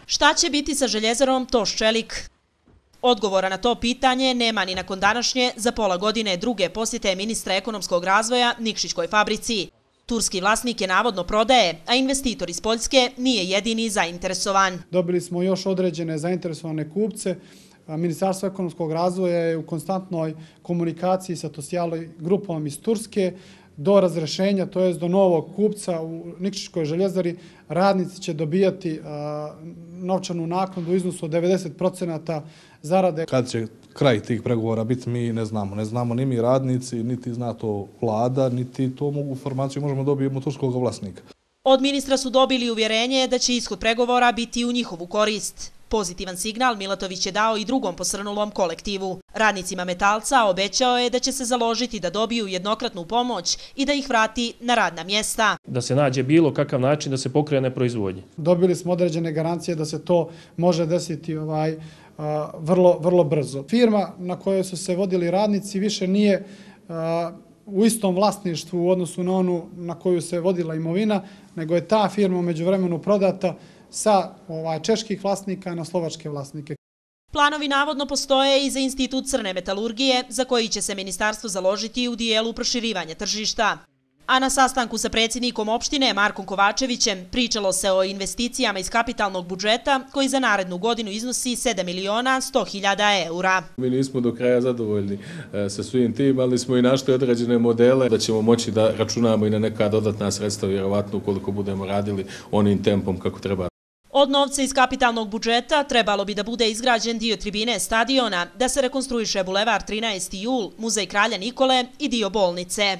Šta će biti sa željezarom Toš-Čelik? Odgovora na to pitanje nema ni nakon današnje za pola godine druge posjete ministra ekonomskog razvoja Nikšićkoj fabrici. Turski vlasnik je navodno prodaje, a investitor iz Poljske nije jedini zainteresovan. Dobili smo još određene zainteresovane kupce. Ministarstvo ekonomskog razvoja je u konstantnoj komunikaciji sa Tosjali grupom iz Turske. Do razrešenja, to jest do novog kupca u Nikšićkoj željezari, radnici će dobijati novčanu naknadu u iznosu od 90% zarade. Kad će kraj tih pregovora biti, mi ne znamo. Ne znamo ni mi radnici, niti zna to vlada, niti to informaciju možemo dobiti od turskog vlasnika. Od ministra su dobili uvjerenje da će ishod pregovora biti u njihovu korist. Pozitivan signal Milatović je dao i drugom posrnulom kolektivu. Radnicima Metalca obećao je da će se založiti da dobiju jednokratnu pomoć i da ih vrati na radna mjesta. Da se nađe bilo kakav način da se pokrene proizvodnje. Dobili smo određene garancije da se to može desiti vrlo brzo. Firma na kojoj su se vodili radnici više nije u istom vlasništvu u odnosu na onu na koju se vodila imovina, nego je ta firma u međuvremenu prodata sa čeških vlasnika na slovačke vlasnike. Planovi navodno postoje i za Institut crne metalurgije, za koji će se ministarstvo založiti u dijelu proširivanja tržišta. A na sastanku sa predsjednikom opštine Markom Kovačevićem pričalo se o investicijama iz kapitalnog budžeta koji za narednu godinu iznosi 7.100.000 eura. Mi nismo do kraja zadovoljni sa svim tim, ali smo i našli određene modele da ćemo moći da računamo i na neka dodatna sredstva, vjerovatno ukoliko budemo radili onim tempom kako treba. Od novca iz kapitalnog budžeta trebalo bi da bude izgrađen dio tribine stadiona, da se rekonstruiše bulevar 13. jul, muzej Kralja Nikole i dio bolnice.